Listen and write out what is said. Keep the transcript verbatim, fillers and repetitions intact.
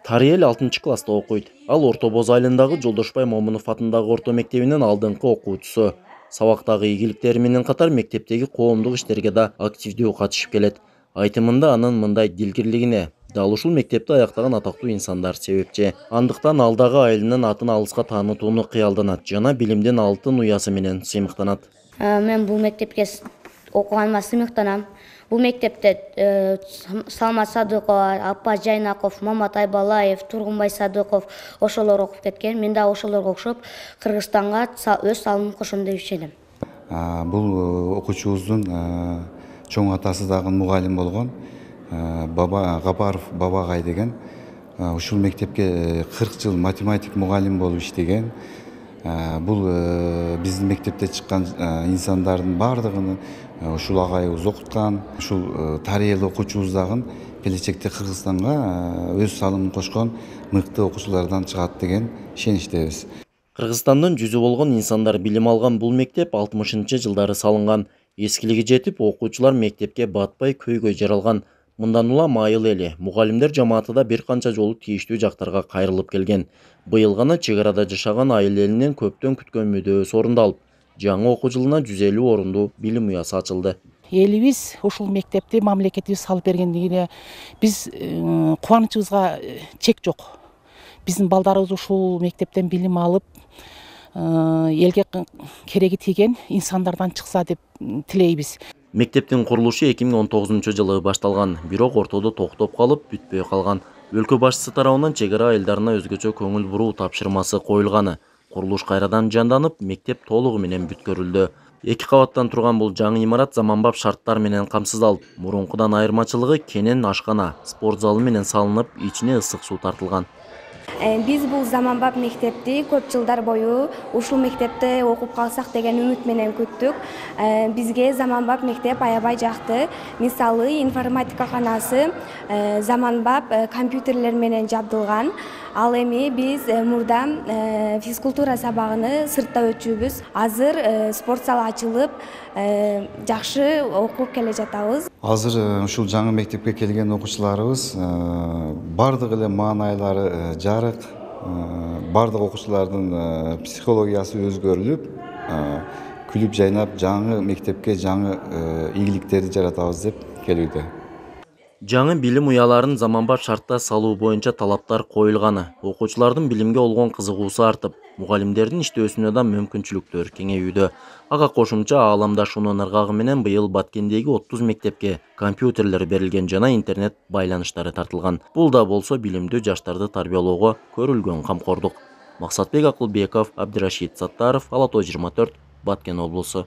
Тариел алтынчы класста окуйт. Ал Орто Боз айылындагы Жолдошбай Момунов атындагы орто мектебинин алдыңкы окуучусу. Сабактагы ийгиликтери менен катар мектептеги коомдук иштерге да активдүү катышып келет. Айтымында анын мындай дилгирлигине дал ушул мектепти аяктаган атактуу инсандар себепчи. Андыктан ал дагы айылынын атын алыска таанытууну кыялданат жана билимдин алтын уясы менен сыймыктанат. Мен бул мектепке окуганыма сыймыктанам. Бул мектепте Салмат Садыкова, Аппаз Жайнаков, Мамат Айбалаев, Тургунбай Садыков ошолор окуп кеткен. Мен да ошолорго окшоп Кыргызстанга өз салымымды кошом деп ишенем. Бул окуучубуздун чоң атасы дагы мугалим болгон Баба Гапаров Бабагай деген. Ушул мектепке кырк жыл математик мугалим болуп иштеген. Бул биздин мектепте чыккан инсандардын бардыгын ушул агайыбыз окуткан. Ушул Тариел окуучубуз дагы келечекте Кыргызстанга өз салымын кошкон мыкты окуучулардан чыгат деген ишеничтебиз. Кыргызстандын жүзү болгон инсандар билим алган бул мектеп алтымышынчы жылдары салынган. Эскилиги жетип, окуучулар мектепке батпай көйгөй жаралган. Мындан улам айыл эли, мугалимдер жамааты да бир канча жолу тийиштүү жактарга кайрылып келген. Быйыл гана чек арада жашаган айыл элинин көптөн күткөн мүдөөсү орундалып, жаңы окуу жылына жүз элүү орундуу билим уясы ачылды. Элибиз ушул мектепти мамлекетибиз салып бергендигине биз кубанычыбызга чек жок. Биздин балдарыбыз ушул мектептен билим алып, элге кереги тийген инсандардан чыкса деп тилейбиз. Мектептин курулушу эки миң он тогузунчу жылы башталган, бирок ортодо токтоп калып, бүтпөй калган. Өлкө башчысы тарабынан чек ара айылдарына өзгөчө көңүл буруу тапшырмасы коюлганы. Курулуш кайрадан жанданып, мектеп толугу менен бүткөрүлдү. Эки кабаттан турган бул жаңы имарат заманбап шарттар менен камсыздалып, мурункудан айырмачылыгы кенен ашкана, спорт залы менен салынып, ичине ысык суу тартылган. Биз бул заманбап мектепти көп жылдар бою ушул мектепте окуп калсак деген үмүт менен күттүк. Бизге заманбап мектеп аябай жакты. Мисалы, информатика канасы заманбап компьютерлер менен жабдылган. Ал эми биз мурда физкультура сабагын сыртта өтчүбүз. Азыр спорт залы ачылып, жакшы окуп келе жатабыз. Азыр ушул жаңы мектепке келген окуучуларыбыз бардык эле маанайлары жарык, бардык окуучулардын психологиясы өзгөрүлүп, күлүп жайнап жаңы мектепке жаңы ийгиликтерди жаратабыз деп келүүдө. Жаңы билим уяларын заманбап шартта салуу боюнча талаптар коюлганы, окуучулардын билимге болгон кызыгуусу артып, мугалимдердин иштөөсүнө да мүмкүнчүлүктөр кеңейүүдө. Ага кошумча ааламдашуунун ыргагы менен быйыл Баткендеги отуз мектепке компьютерлер берилген жана интернет байланыштары тартылган. Бул да болсо билимдүү жаштарды тарбиялоого көрүлгөн камкордук. Максатбек Акылбеков, Абдирашид Саттаров, Ала той жыйырма төрт, Баткен облусу.